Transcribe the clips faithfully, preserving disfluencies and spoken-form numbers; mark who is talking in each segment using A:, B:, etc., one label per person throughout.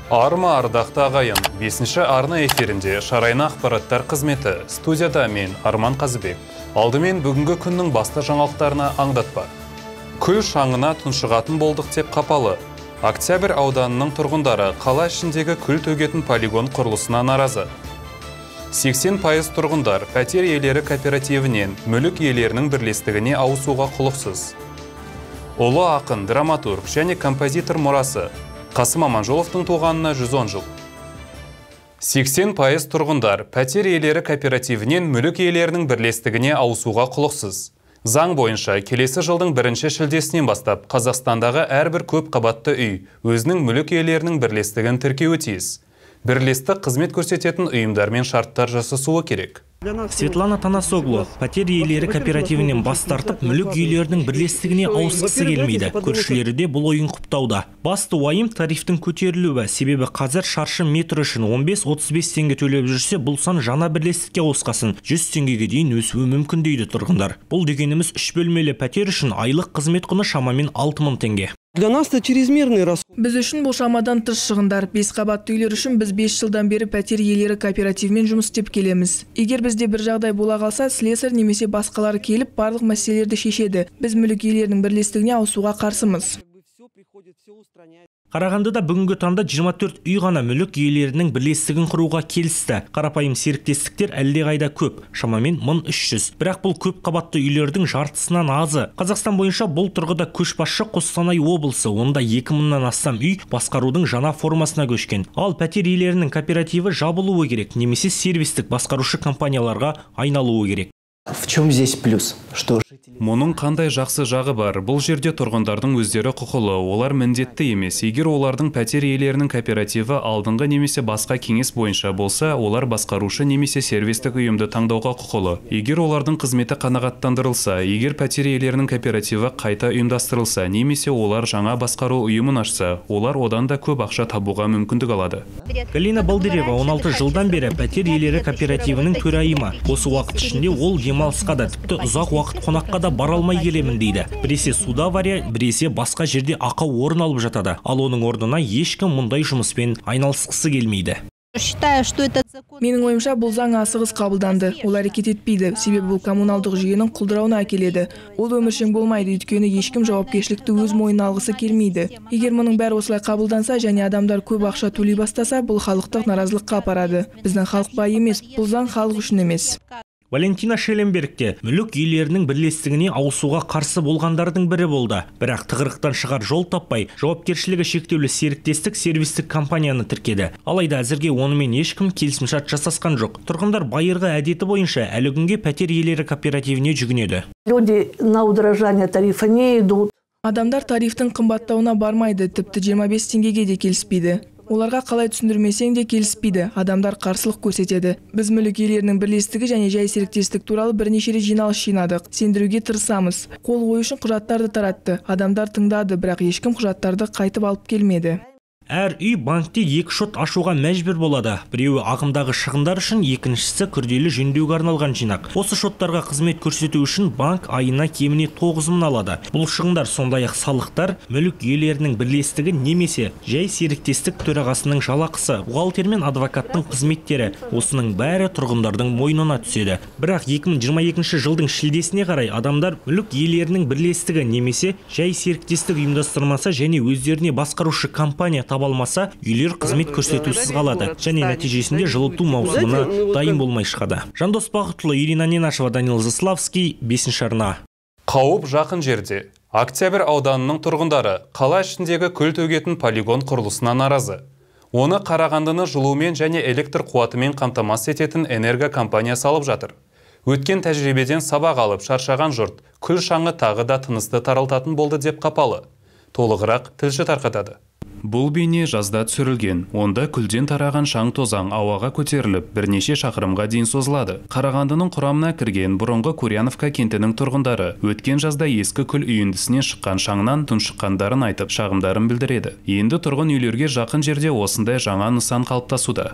A: Арма ардақты ағайын, бесінші арна эфирінде Шарайна ақпараттар қызметі. Студияда мен Арман Қазыбек. Алдымен бүгінгі күннің басты жаңалықтарына аңдатпа. Күл шаңына тұншығатын болдық деп қапалы. Октябрь ауданының тұрғындары қала ішіндегі күл төгетін полигон құрылысына наразы. сексен пайыз тұрғындар пәтер иелері кооперативінен мүлік иелерінің бірлестігіне ауысуға құлықсыз. Ұлы ақын, драматург және композитор мұрасы Қасым Аманжоловтың туғанына жүз он жыл. сексен пайыз тұрғындар пәтер иелері кооперативінен мүлік иелерінің бірлестігіне ауысуға құлықсыз. Заң бойынша келесі жылдың бірінші шілдесінен бастап Қазақстандағы әрбір көп қабатты үй өзінің мүлік иелерінің бірлестігін тіркеуі тиіс. Бірлестік қызмет көрсететін ұйымдармен шарттар жасасуы керек.
B: Светлана Танасоглу пәтер иелері кооперативінен бас тартып, мүлік иелерінің бірлестігіне ауысқысы келмейді. Көршілері де бұл ойын құптауда. Басты уайым тарифтің көтерілуі, себебі қазір шаршы метр үшін он бес отыз бес теңге төлеп жүрсе, бұл сан жаңа бірлестікке ауысқасын жүз теңгеге дейін өсуі мүмкін дейді тұрғындар. Бұл дегеніміз үш бөлмелі пәтер үшін айлық қызмет құны шамамен алты мың теңге.
C: Для нас это чрезмерный расход.
D: Біз үшін бұл шамадан тыс шығындар. Бес қабатты үйлер үшін біз бес жылдан бері пәтер иелері кооперативмен жұмыс істеп келеміз. Егер бізде бір жағдай бола қалса, слесарь немесе басқалары келіп барлық мәселелерді шешеді. Біз мүлік иелерінің бірлестігіне ауысуға қарсымыз.
B: Қарағандыда бүгінгі таңда жиырма төрт үй ғана мүлік иелерінің бірлестігін құруға келісті. Қарапайым серіктестіктер әлдеқайда көп, шамамен мың үш жүз. Бірақ бұл көп қабатты үйлердің жартысынан азы. Қазақстан бойынша бұл тұрғыда көшбасшы Қостанай облысы, онда екі мыңнан астам үй басқарудың жаңа формасына көшкен. Ал пәтер иелерінің кооперативі жабылуы керек, немесе сервистік басқарушы компанияларға айналуы керек.
E: В чем здесь плюс? Что
A: Мұның қандай жақсы жағы бар? Бұл жерде тұрғындардың өздері құқылы, олар міндетті емес. Егер олардың пәтер иелерінің кооперативі алдыңғы немесе басқа кеңес бойынша болса, олар басқарушы немесе сервистік ұйымды таңдауға құқылы. Егер олардың қызметі қанағаттандырылса, егер пәтер иелерінің кооперативі қайта ұйымдастырылса, немесе олар жаңа басқару ұйымын ашса, олар одан да көп ақша табуға мүмкіндік алады.
B: Галина Балдырева он алты жылдан бері пәтер иелері кооперативінің төрайымы. Осы уақыт ішінде ол демалысқа да, тіпті ұзақ уақыт қонаққа да бара алмай келемін дейді. Біресе суда авария, біресе басқа жерде ақау орын алып жатады. Ал оның орнына ешкім мұндай жұмыспен айналысқысы келмейді.
D: Менің ойымша бұл заң асығыс қабылданды. Ол әрекет етпейді, себебі бұл коммуналдық жүйенің құлдырауына әкеледі. Ол өміршең болмайды, өйткені ешкім жауапкершілікті өз мойнына алғысы келмейді. Егер мұның бәрі осылай қабылданса және адамдар көп ақша төлей бастаса, бұл халықтық наразылыққа апарады. Біздің халық бай емес, бұл заң халық үшін емес.
B: Валентина Шелленбергте мүлік иелерінің бірлестігіне ауысуға қарсы болғандардың бірі болды. Бірақ тығырықтан шығар жол таппай, жауапкершілігі шектеулі серіктестік сервистік компанияны тіркеді. Алайда әзірге онымен ешкім келісімшарт жасасқан жоқ. Тұрғындар байырғы әдеті бойынша әлі күнге пәтер иелері кооперативіне жүгінеді.
F: Люди на удорожание тарифа не идут.
D: Адамдар тарифтің қымбаттауына бармайды, тіпті жиырма бес теңгеге де келіспейді. Оларға қалай түсіндірмесең де келіспейді, адамдар қарсылық көрсетеді. Біз мүлік иелерінің бірлестігі және жай серіктестік туралы бірнеше рет жиналыс жинадық. Сендіруге тырысамыз. Қол қою үшін құжаттарды таратты. Адамдар тыңдады, бірақ ешкім құжаттарды қайтып алып келмеді.
B: Әр үй банкте екі шот ашуға мәжбүр болады. Біреуі ағымдағы шығындар үшін, екіншісі күрделі жөндеуге арналған жинақ. Осы шоттарға қызмет көрсету үшін банк айына кеміне тоғыз мың алады. Бұл шығындар сондай-ақ салықтар, мүлік иелерінің бірлестігі немесе жай серіктестік төрағасының жалақысы, бухгалтер мен адвокаттың қызметтері. Осының бәрі тұрғындардың мойнына түседі. Бірақ екі мың жиырма екінші жылдың шілдесіне қарай адамдар мүлік иелерінің бірлестігі немесе жай серіктестік ұйымдастырмаса және өздеріне басқарушы компания алмаса, үйлер қызмет көрсетусіз қалады және нәтижесінде жылыту маусымына дайын болмай шығады. Жандос Бақытұлы, Ирина Ненашева, Данил Заславский, бесінші арна.
A: Қауіп жақын жерде. Октябрь ауданының тұрғындары қала ішіндегі күл төгетін полигон құрылысына наразы. Оны Қарағандыны жылумен және электр қуатымен қамтамасыз ететін энерго компания салып жатыр. Өткен тәжірибеден сабақ алып шаршаған жұрт күл шаңы тағы да тынысты таралтатын болды деп қапалы. Толығырақ тілші тарқатады. Бұл бейне жазда түсірілген. Онда күлден тараған шаң тозаң ауаға көтеріліп, бірнеше шақырымға дейін созылады. Қарағандының құрамына кірген бұрынғы Курьяновка кентінің тұрғындары өткен жазда ескі күл үйіндісінен шыққан шаңнан тұншыққандарын айтып, шағымдарын білдіреді. Енді тұрғын үйлерге жақын жерде осындай жаңа нысан қалыптасуда.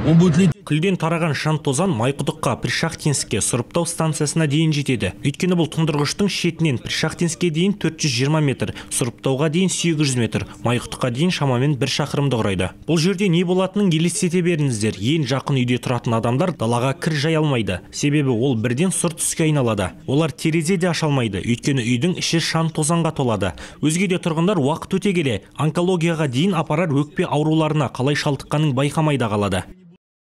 B: Күлден тараған шаң тозан Майқұдыққа, Пришахтинскке, сұрыптау станциясына дейін жетеді. Өйткені бұл тұндырғыштың шетінен Пришахтинскке дейін төрт жүз жиырма метр, сұрыптауға дейін сегіз жүз метр, Майқұдыққа дейін шамамен бір шақырымды құрайды. Бұл жерде не болатынын елестете беріңіздер. Ең жақын үйде тұратын адамдар далаға кір жай алмайды. Себебі ол бірден сұр түске айналады. Олар терезе де аша алмайды, өйткені үйдің іші шаң тозанға толады. Өзге де тұрғындар уақыт өте келе онкологияға дейін апарар өкпе ауруларына қалай шалдыққанын байқамайда қалады.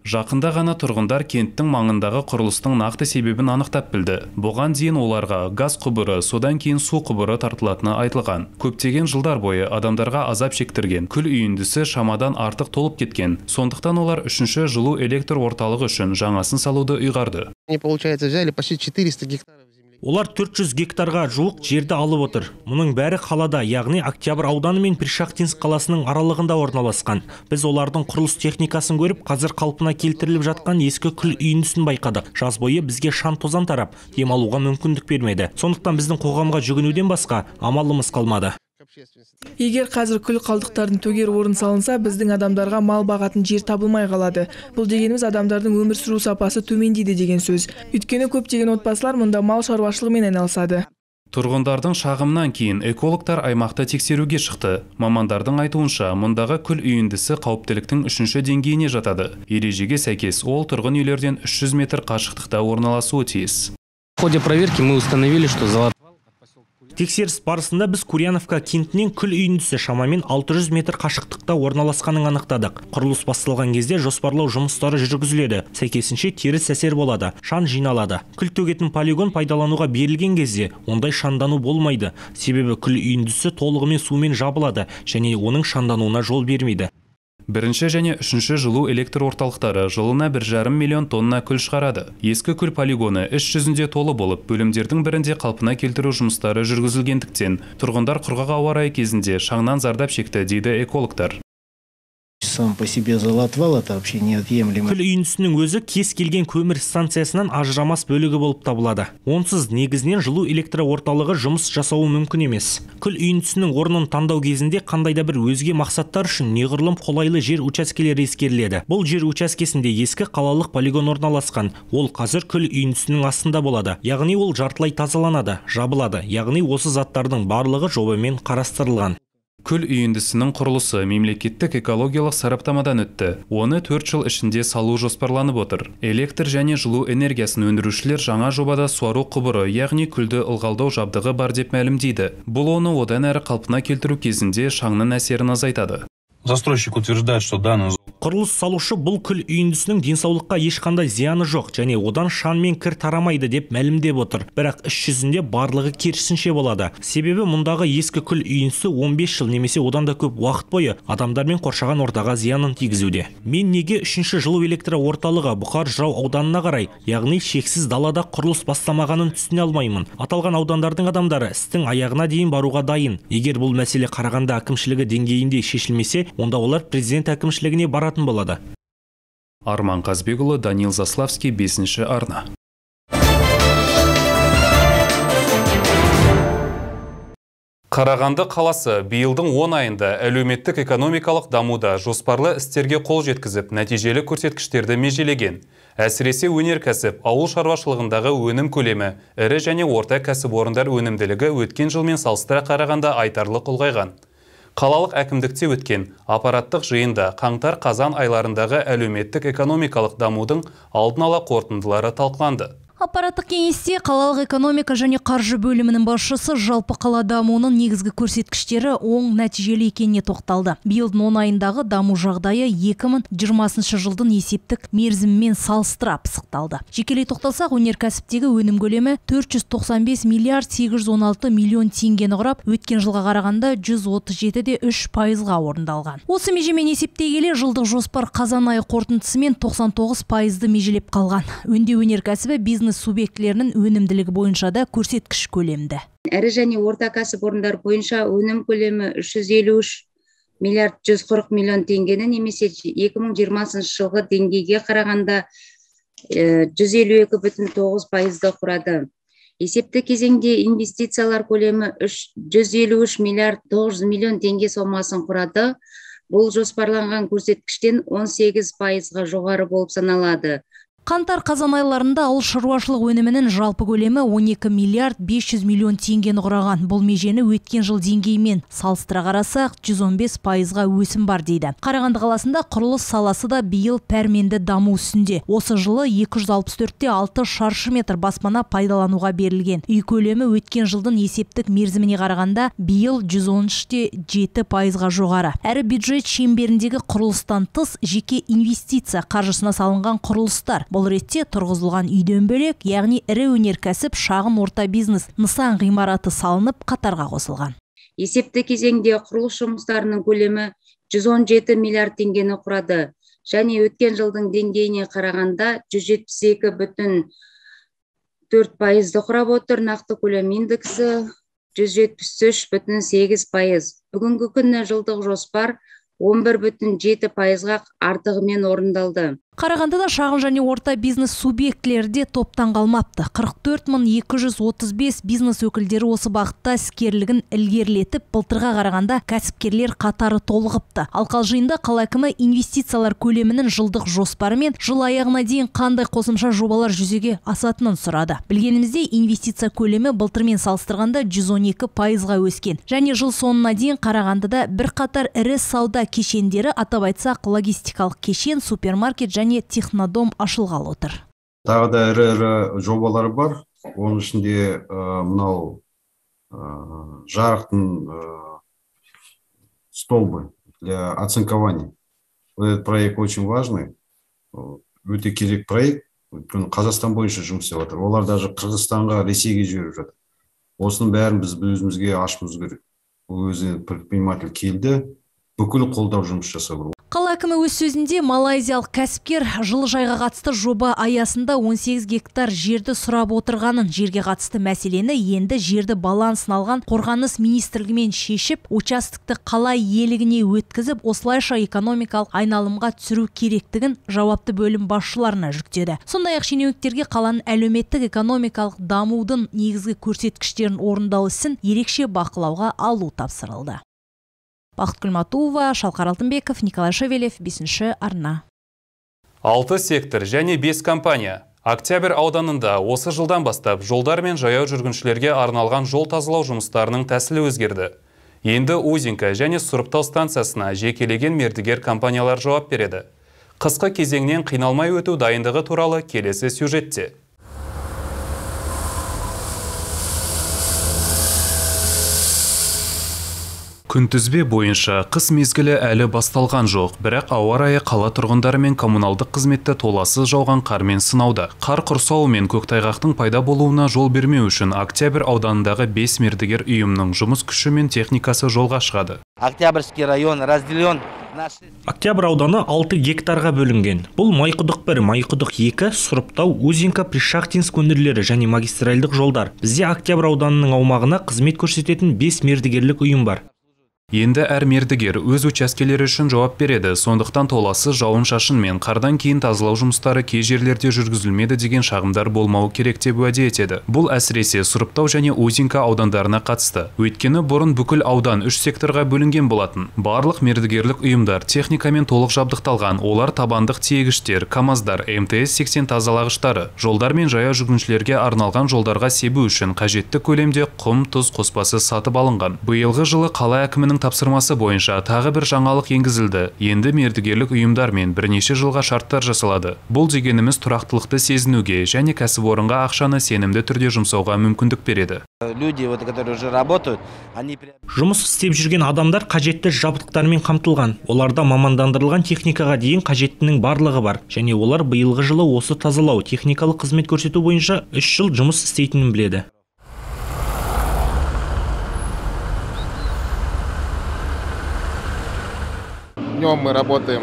A: Жақында ғана тұрғындар кенттің маңындағы құрылыстың нақты себебін анықтап білді. Бұған дейін оларға газ құбыры, содан кейін су құбыры тартылатыны айтылған. Көптеген жылдар бойы адамдарға азап шектірген күл үйіндісі шамадан артық толып кеткен. Сондықтан олар үшінші жылу электр орталығы үшін жаңасын салуды ұйғарды.
G: Они, получается, взяли почти четыреста гектаров.
B: Олар төрт жүз гектарға жуық жерді алып отыр. Мұның бәрі қалада, яғни Октябрь ауданы мен Пришахтинск қаласының аралығында орналасқан. Біз олардың құрылыс техникасын көріп, қазір қалпына келтіріліп жатқан ескі күл үйіндісін байқадық. Жаз бойы бізге шаң тозан тарап, демалуға мүмкіндік бермеді. Сондықтан біздің қоғамға жүгінуден басқа амалымыз қалмады.
D: Егер қазір күл қалдықтардың төгер орын салынса, біздің адамдарға мал бағатын жер табылмай қалады. Бұл дегеніміз адамдардың өмір сүру сапасы төмендейді деген сөз. Өйткені көптеген отбасылар мұнда мал шаруашылығымен айналысады.
A: Тұрғындардың шағымнан кейін экологтар аймақты тексеруге шықты. Мамандардың айтуынша, мұндағы күл үйіндісі қауіптіліктің үшінші деңгейіне жатады. Ережеге сәйкес ол тұрғын үйлерден үш жүз метр қашықтықта орналасуы тиіс.
E: В ходе проверки мы установили, что золотая...
B: Тексеріс барысында біз Курьяновка кентінен күл үйіндісі шамамен алты жүз метр қашықтықта орналасқанын анықтадық. Құрылыс басталған кезде жоспарлау жұмыстары жүргізіледі. Сәйкесінше теріс әсер болады, шаң жиналады. Күл төгетін полигон пайдалануға берілген кезде ондай шаңдану болмайды. Себебі күл үйіндісі толығымен сумен жабылады және оның шаңдануына жол бермейді.
A: Бірінші және үшінші жылу электр орталықтары жылына бір жарым миллион тонна күл шығарады. Ескі күл полигоны іс жүзінде толы болып, бөлімдердің бірінде қалпына келтіру жұмыстары жүргізілгендіктен, тұрғындар құрғақ ауа райы кезінде шаңнан зардап шекті, дейді экологтар.
E: Сам по себе золотвал это вообще неотъемлемый.
B: Күл үйіндісінің өзі кез келген көмір станциясынан ажырамас бөлігі болып табылады. Онсыз негізінен жылу электр орталығы жұмыс жасауы мүмкін емес. Күл үйіндісінің орнын таңдау кезінде қандайда бір өзге мақсаттар үшін неғұрлым қолайлы жер учаскелері ескеріледі. Бұл жер учаскесінде ескі қалалық полигон орналасқан. Ол қазір күл үйіндісінің астында болады. Яғни ол жартылай тазаланады, жабылады. Яғни осы заттардың барлығы жобамен қарастырылған.
A: Күл үйіндісінің құрылысы мемлекеттік экологиялық сараптамадан өтті. Оны төрт жыл ішінде салу жоспарланып отыр. Электр және жылу энергиясын өндірушілер жаңа жобада суару құбыры, яғни күлді ылғалдау жабдығы бар деп мәлімдейді. Бұл оны одан әрі қалпына келтіру кезінде шаңның әсерін азайтады.
H: Застройщик утверждает, что данный...
B: Құрылыс салушы бұл күл үйіндісінің денсаулыққа ешқандай зияны жоқ және одан шаң мен кір тарамайды деп мәлімдеп отыр. Бірақ іс жүзінде барлығы керісінше болады. Себебі мұндағы ескі күл үйіндісі он бес жыл немесе одан да көп уақыт бойы адамдармен қоршаған ортаға зиянын тигізуде. Мен неге үшінші жылу электр орталығы Бұқар Жырау ауданына қарай, яғни шексіз далада құрылыс бастамағанын түсіне алмаймын. Аталған аудандардың адамдары істің аяғына дейін баруға дайын. Егер бұл мәселе Қарағанды әкімшілігі деңгейінде шешілмесе, онда олар президент әкімшілігіне баратын болады.
A: Арман Қазбекұлы, Данил Заславский, бесінші арна. Қарағанды қаласы биылдың он айында әлеуметтік экономикалық дамуда жоспарлы істерге қол жеткізіп, нәтижелі көрсеткіштерді межелеген. Әсіресе өнеркәсіп, ауыл шаруашылығындағы өнім көлемі, ірі және орта кәсіпорындар өнімділігі өткен жылмен салыстыра қарағанда айтарлық ұлғайған. Қалалық әкімдікте өткен аппараттық жиында қаңтар-қазан айларындағы әлеуметтік экономикалық дамудың алдын ала қорытындылары талқыланды.
I: Аппараттық кеңесте қалалық экономика және қаржы бөлімінің басшысы жалпы қала дамуының негізгі көрсеткіштері оң нәтижелі екеніне тоқталды. Биылдың он айындағы даму жағдайы екі мың жиырмасыншы жылдың есептік мерзімімен салыстыра пысықталды. Жекелей тоқталсақ, өнеркәсіптегі өнім көлемі төрт жүз тоқсан бес миллиард сегіз жүз он алты миллион теңгені құрап, өткен жылға қарағанда жүз отыз жеті де үш пайызға орындалған. Осы межемен есептей келе, жылдық жоспар қазан айы қорытындысымен тоқсан тоғыз пайызды межелеп қалған. Өңдеу өнеркәсібі бизнес субъектілерінің өнімділігі бойынша да көрсеткіш көлемді.
J: Әрі және орта кәсіпорындар бойынша өнім көлемі үш жүз елу үш миллиард жүз қырық миллион теңгені, немесе екі мың жиырмасыншы жылғы деңгейге қарағанда жүз елу екі бүтін тоғыз пайызды құрады. Есепті кезеңде инвестициялар көлемі жүз елу үш миллиард тоғыз жүз миллион теңге сомасын құрады. Бұл жоспарланған көрсеткіштен он сегіз пайызға жоғары болып саналады.
I: Қаңтар-қазан айларында ауыл шаруашылық өнімінің жалпы көлемі он екі миллиард бес жүз миллион теңгені құраған. Бұл межені өткен жыл деңгеймен салыстыра қарасақ, жүз он бес пайызға өсім бар дейді. Қарағанды қаласында құрылыс саласы да биыл пәрменді даму үстінде. Осы жылы екі жүз алпыс төрт те алты шаршы метр баспана пайдалануға берілген. Үй көлемі өткен жылдың есептік мерзіміне қарағанда биыл жүз он үш те жеті пайызға жоғары. Әрі бюджет шеңберіндегі құрылыстан тыс жеке инвестиция қаржысына салынған құрылыстар. Бұл ретте тұрғызылған үйден бөлек, яғни ірі өнеркәсіп, шағын орта бизнес нысан ғимараты салынып қатарға қосылған.
J: Есепті кезеңде құрылыс жұмыстарының көлемі жүз он жеті миллиард теңгені құрады. Және өткен жылдың деңгейіне қарағанда жүз жетпіс екі бүтін төрт пайызды құрап отыр. Нақты көлем индексі жүз жетпіс үш бүтін сегіз пайыз. Бүгінгі күні жылдық жоспар он бір бүтін жеті пайызға артығымен орындалды.
I: Қарағандыда шағын және орта бизнес субъектілері де топтан қалмапты. қырық төрт мың екі жүз отыз бес бизнес өкілдері осы бағытта іскерлігін ілгерілетіп, былтырға қарағанда кәсіпкерлер қатары толығыпты. Ал жиында қала әкімі инвестициялар көлемінің жылдық жоспары мен жыл аяғына дейін қандай қосымша жобалар жүзеге асатынын сұрады. Білгенімізде инвестиция көлемі былтырмен салыстырғанда жүз он екі пайызға өскен. Және жыл соңына дейін Қарағандыда бір қатар ірі сауда кешендері, атап айтсақ логистикалық кешен, супермаркет және технодом ашылғалы отыр.
K: Тағы да ірі-ірі жобалар бар. Оның ішінде мынау жарықтың столбы для оцинкования. Этот проект очень важный. Өте керек проект. Қазақстан бойынша жұмыс істеп жатыр. Олар даже Қырғызстанға, Ресейге жіберіп жатыр. Осының бәрін біз өзімізге ашуымыз керек. Өзі предприниматель келді, бүкіл қолдау жұмыс жасап.
I: Қала әкімі өз сөзінде малайзиялық кәсіпкер жылыжайға қатысты жоба аясында он сегіз гектар жерді сұрап отырғанын, жерге қатысты мәселені енді жерді балансын алған қорғаныс министрлігімен шешіп, участокты қала иелігіне өткізіп, осылайша экономикалық айналымға түсіру керектігін жауапты бөлім басшыларына жүктеді. Сондай-ақ шенеуніктерге қаланың әлеуметтік экономикалық дамудың негізгі көрсеткіштерін орындау ісін ерекше бақылауға алу тапсырылды. Бақыт Күлматуова, Шалқар Алтынбеков, Николай Шевелев, бесінші арна.
A: Алты сектор және бес компания. Октябрь ауданында осы жылдан бастап жолдар мен жаяу жүргіншілерге арналған жол тазалау жұмыстарының тәсілі өзгерді. Енді Узенка және Сұрыптау станциясына жекелеген мердігер компаниялар жауап береді. Қысқы кезеңнен қиналмай өту дайындығы туралы келесі сюжетте. Күнтізбе бойынша қыс мезгілі әлі басталған жоқ, бірақ ауа райы қала тұрғындары мен коммуналдық қызметті толассыз жауған қармен сынауда. Қар құрсауы мен көктайғақтың пайда болуына жол бермеу үшін Октябрь ауданындағы бес мердігер ұйымның жұмыс күші мен техникасы жолға шығады.
L: Октябрьский район разделен.
B: Октябрь ауданы алты гектарға бөлінген. Бұл Майқұдық бір, Майқұдық екі, Сұрыптау, Узенка, Пришахтинск өңірлері және магистральдық жолдар. Бізде Октябрь ауданының аумағына қызмет көрсететін бес мердігерлік ұйым бар.
A: Енді әр мердігер өз учаскелері үшін жауап береді, сондықтан толассыз жауын-шашын мен қардан кейін тазалау жұмыстары кей жерлерде жүргізілмеді деген шағымдар болмауы керек деп уәде етеді. Бұл әсіресе Сұрыптау және Узенка аудандарына қатысты. Өйткені бұрын бүкіл аудан үш секторға бөлінген болатын. Барлық мердігерлік ұйымдар техникамен толық жабдықталған. Олар табандық тиегіштер, КамАЗдар, эм тэ эс сексен тазалағыштары, жолдар мен жаяу жүргіншілерге арналған жолдарға себу үшін қажетті көлемде құм, тұз қоспасы сатып алынған. Биылғы жылы қала әкімінің тапсырмасы бойынша тағы бір жаңалық енгізілді. Енді мердігерлік ұйымдармен бірнеше жылға шарттар жасалады. Бұл дегеніміз тұрақтылықты сезінуге және кәсіпорынға ақшаны сенімді түрде жұмсауға мүмкіндік береді.
B: Жұмыс істеп жүрген адамдар қажетті жабдықтармен қамтылған. Оларда мамандандырылған техникаға дейін қажеттінің барлығы бар. Және олар биылғы жылы осы тазалау, техникалық қызмет көрсету бойынша үш жыл жұмыс істейтінін біледі.
G: Днем мы работаем,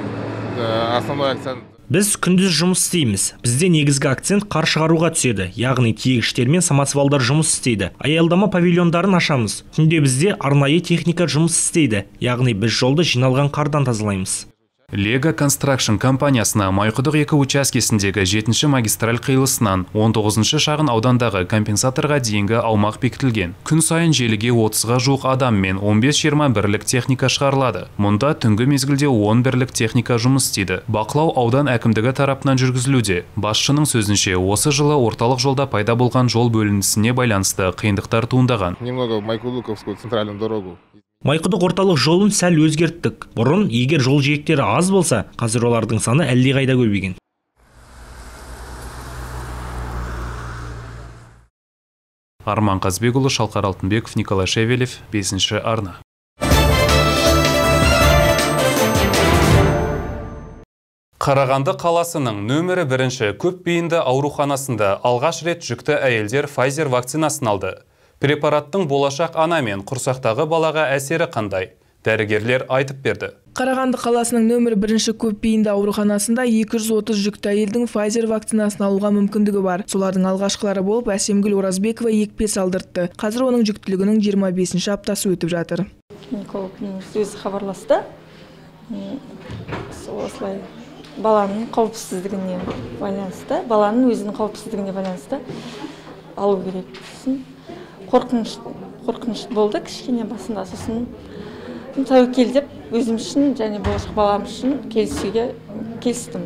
G: основной акцент.
B: Біз күндіз жұмыс істейміз. Бізде негізгі акцент қар шығаруға түседі, яғни тиегіштер мен самосвалдар жұмыс істейді. Аялдама павильондарын ашамыз. Түнде бізде арнайы техника жұмыс істейді, яғни біз жолды жиналған қардан тазалаймыз.
A: Лего Construction компаниясына Майқұдық екі учаскесіндегі жетінші магистраль қиылысынан он тоғызыншы шағын аудандағы компенсаторға дейінгі аумақ бекітілген. Күн сайын желіге отызға жуық адам мен он бес жиырма бірлік техника шығарылады. Мұнда түнгі мезгілде он бірлік техника жұмыс істейді. Бақылау аудан әкімдігі тарапынан жүргізілуде. Басшының сөзінше, осы жылы орталық жолда пайда болған жол бөлінісіне байланысты қиындықтар туындаған.
G: Немного в Майқұдықовскую центральную дорогу.
B: Майқұдық орталық жолын сәл өзгерттік. Бұрын, егер жол жиектері аз болса, қазір олардың саны әлдеқайда көбейген.
A: Арман Қазбекұлы, Шалқар Алтынбеков, Николай Шевелев, бесінші арна. Қарағанды қаласының нөмірі бірінші көпбейінді ауруханасында алғаш рет жүкті әйелдер Pfizer вакцинасын алды. Препараттың болашақ ана мен құрсақтағы балаға әсері қандай? Дәрігерлер айтып берді.
D: Қарағанды қаласының нөмір бірінші көпбейінді ауруханасында екі жүз отыз жүкті әйелдің Pfizer вакцинасын алуға мүмкіндігі бар. Солардың алғашқылары болып Әсемгүл Оразбекова екпе салдыртты. Қазір оның жүктілігінің жиырма бесінші аптасы өтіп жатыр.
M: Гинекологтың өзі хабарласты. Осылай баланың қауіпсіздігіне байланысты, баланың өзінің қауіпсіздігіне байланысты алу керек. Қорқыныш, қорқыныш болды кішкене басында, сосын тәуекел деп өзім үшін және болашақ балам үшін келісуге келістім.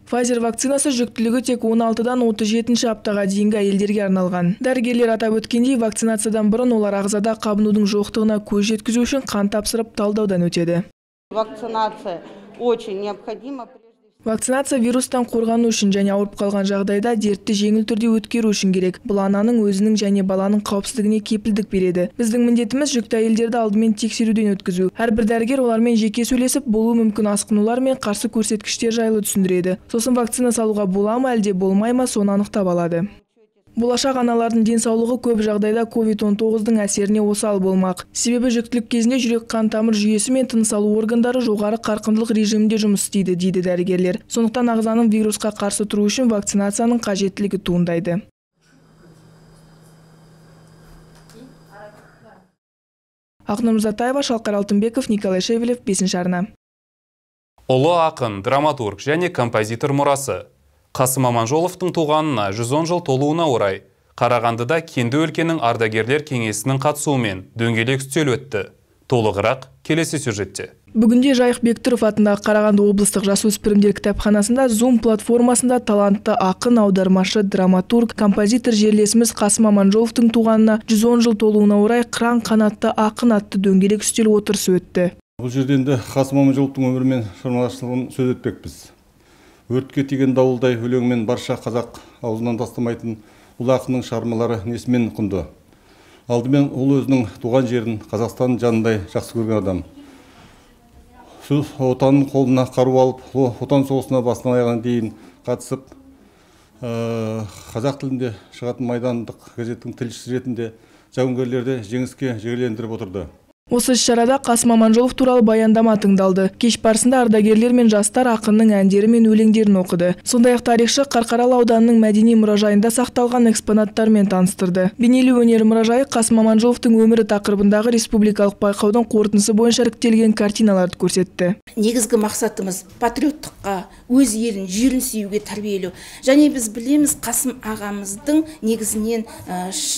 D: Pfizer вакцинасы жүктілігі тек он алтыдан отыз жетінші аптаға дейінгі әйелдерге арналған. Дәрігерлер атап өткендей, вакцинациядан бұрын олар ағзада қабынудың жоқтығына көз жеткізу үшін қан тапсырып талдаудан өтеді.
N: Вакцинация очень необходима.
D: Вакцинация вирустан қорғану үшін және ауырып қалған жағдайда дертті жеңіл түрде өткеру үшін керек. Бұл ананың өзінің және баланың қауіпсіздігіне кепілдік береді. Біздің міндетіміз жүкті әйелдерді алдымен тексеруден өткізу. Әрбір дәрігер олармен жеке сөйлесіп, болуы мүмкін асқынулар мен қарсы көрсеткіштер жайлы түсіндіреді. Сосын вакцина салуға бола ма, әлде болмай ма, соны анықтап алады. Болашақ аналардың денсаулығы көп жағдайда ковид он тоғыздың әсеріне осал болмақ. Себебі жүктілік кезінде жүрек қан тамыр жүйесі мен тыныс алу органдары жоғары қарқындылық режимде жұмыс істейді, дейді дәрігерлер. Сондықтан ағзаның вирусқа қарсы тұру үшін вакцинацияның қажеттілігі туындайды. Ақнұр Мырзатаева, Шалқар Алтынбеков, Николай Шевелев, бесінші арна.
A: Ұлы ақын, драматург және композитор мұрасы. Қасым Аманжоловтың туғанына жүз он жыл толуына орай, Қарағандыда Кенді өлкенің ардагерлер кеңесінің қатысуымен дөңгелек үстел өтті. Толығырақ келесі сюжетте.
D: Бүгінде Жайық Бектұров атындағы Қарағанды облыстық жасөспірімдер кітапханасында Zoom платформасында талантты ақын, аудармашы, драматург, композитор жерлесіміз Қасым Аманжоловтың туғанына жүз он жыл толуына орай қыран қанатты ақын атты дөңгелек үстел отырысы өтті.
O: Бұл жерден де Қасым Аманжоловтың өмірі мен шығармашылығын сөз етпекпіз. Өртке тиген дауылдай өлеңмен барша қазақ аузынан тастамайтын ұлы ақынның шығармалары несімен құнды. Алдымен ол өзінің туған жерін Қазақстан жанындай жақсы көрген адам. Отанның қолына қару алып, отан соғысына басынан аяғына дейін қатысып, қазақ тілінде шығатын майдандық газеттің тілшісі ретінде жауынгерлерді жеңіске жігерлендіріп отырды.
D: Осы іс-шарада Қасым Аманжолов туралы баяндама тыңдалды. Кеш барысында ардагерлер мен жастар ақынның әндері мен өлеңдерін оқыды. Сондай-ақ тарихшы Қарқаралы ауданының мәдени мұражайында сақталған экспонаттармен таныстырды. Бейнелеу өнері мұражайы Қасым Аманжоловтың өмірі тақырыбындағы республикалық байқаудың қорытындысы бойынша іріктелген картиналарды көрсетті.
P: Негізгі мақсатымыз патриоттыққа, өз елін, жерін сүюге тәрбиелеу. Және біз білеміз, Қасым ағамыздың негізінен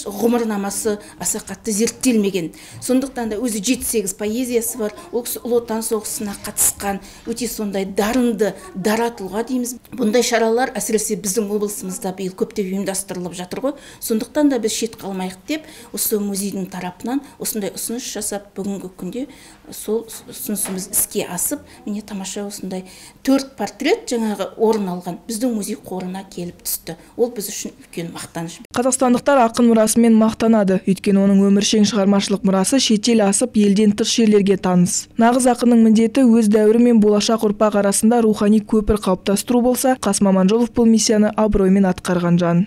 P: ғұмырнамасы аса қатты зерттелмеген. Сондықтан да өзі жеті сегіз поэзиясы бар. Ол кісі ұлы отан соғысына қатысқан, өте сондай дарынды, дара тұлға дейміз. Бұндай шаралар әсіресе біздің облысымызда биыл көптеп ұйымдастырылып жатыр ғой. Сондықтан да біз шет қалмайық деп, осы музейдің тарапынан осындай ұсыныс жасап, бүгінгі күнде сол ұсынысымыз іске асып, міне тамаша осындай төрт портрет жаңағы орын алған біздің музей қорына келіп түсті. Ол біз үшін үлкен мақтаныш.
D: Қазақстандықтар ақын мұрасымен мақтанады. Өйткені оның өміршең шығармашылық мұрасы шетел асып, елден тыс жерлерге таныс. Нағыз ақынның міндеті өз дәуірі мен болашақ ұрпақ арасында рухани көпір қалыптастыру болса, Қасым Аманжолов бұл миссияны абыроймен атқарған жан.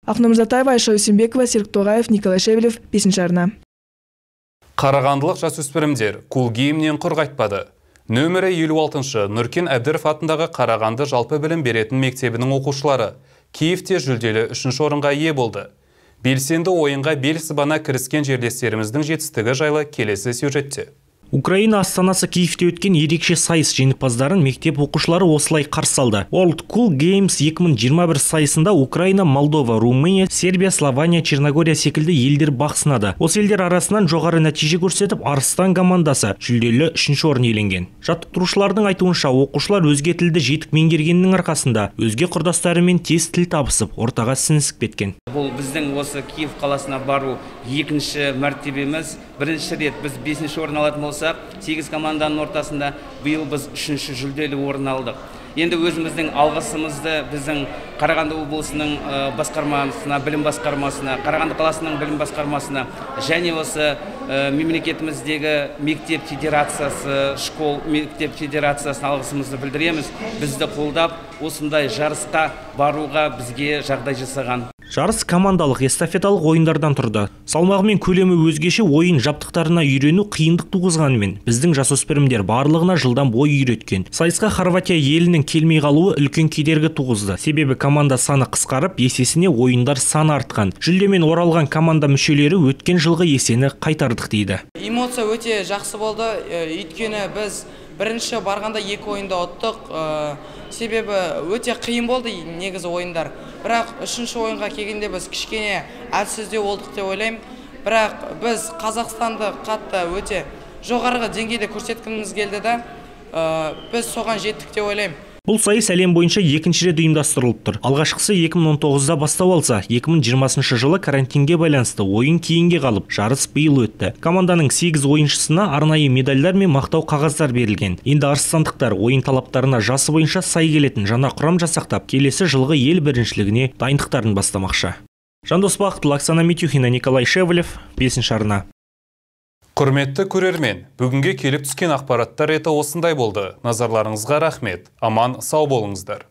D: Ақнұр Мырзатаева, Айша Өсенбекова, Серік Тоғаев, Николай Шевелев, бесінші арна.
A: Қарағандылық жасөспірімдер кул киімнен құр қайтпады. Нөмірі елу алтыншы Нұркен Әбдіров атындағы Қарағанды жалпы білім беретін мектебінің оқушылары Киевте жүлделі үшінші орынға ие болды. Белсенді ойынға бел сыбана кіріскен жерлестеріміздің жетістігі жайлы келесі сюжетте.
B: Украина астанасы Киевте өткен ерекше сайыс жеңімпаздарын мектеп оқушылары осылай қарсы алды. World Cool Games екі мың жиырма бір сайысында Украина, Молдова, Румыния, Сербия, Слования, Черногория секілді елдер бақ сынады. Осы елдер арасынан жоғары нәтиже көрсетіп, Арыстан командасы жүлделі үшінші орын иеленген. Жаттықтырушылардың айтуынша, оқушылар өзге тілді жетік меңгергеннің арқасында өзге құрдастарымен тез тіл табысып, ортаға сіңісіп кеткен.
Q: Бұл біздің осы Киев қаласына бару екінші мәртебеміз. Бірінші рет біз бесінші орын алатын болсақ, сегіз команданың ортасында биыл біз үшінші жүлделі орын алдық. Енді өзіміздің алғысымызды біздің Қарағанды облысының басқармасына, білім басқармасына, Қарағанды қаласының білім басқармасына және осы мемлекетіміздегі мектеп федерациясы, школ мектеп федерациясына алғысымызды білдіреміз. Бізді қолдап, осындай жарысқа баруға бізге жағдай жасаған.
B: Жарыс командалық эстафеталық ойындардан тұрды. Салмағы мен көлемі өзгеше ойын жабдықтарына үйрену қиындық туғызғанымен, біздің жасөспірімдер барлығына жылдан бой үйреткен. Сайысқа Хорватия елінің келмей қалуы үлкен кедергі туғызды. Себебі команда саны қысқарып, есесіне ойындар саны артқан. Жүлдемен оралған команда мүшелері өткен жылғы есені қайтардық дейді.
R: Эмоция өте жақсы болды. Өйткені біз бірінші барғанда екі ойында ұттық. Себебі өте қиын болды негізі ойындар. Бірақ үшінші ойынға келгенде біз кішкене әлсіздеу болдық деп ойлаймын. Бірақ біз Қазақстанды қатты өте жоғарғы деңгейде көрсеткіміз келді да, біз соған жеттік деп ойлаймын.
B: Бұл сайыс әлем бойынша екінші рет ұйымдастырылып тұр. Алғашқысы екі мың он тоғызда бастау алса, екі мың жиырмасыншы жылы карантинге байланысты ойын кейінге қалып, жарыс биыл өтті. Команданың сегіз ойыншысына арнайы медальдар мен мақтау қағаздар берілген. Енді арыстандықтар ойын талаптарына жасы бойынша сай келетін жаңа құрам жасақтап, келесі жылғы ел біріншілігіне дайындықтарын бастамақшы. Жандос Бақытұлы, Оксана Митюхина, Николай Шевелев, бесінші арна.
A: Құрметті көрермен, бүгінге келіп түскен ақпараттар еті осындай болды. Назарларыңызға рахмет. Аман, сау болыңыздар.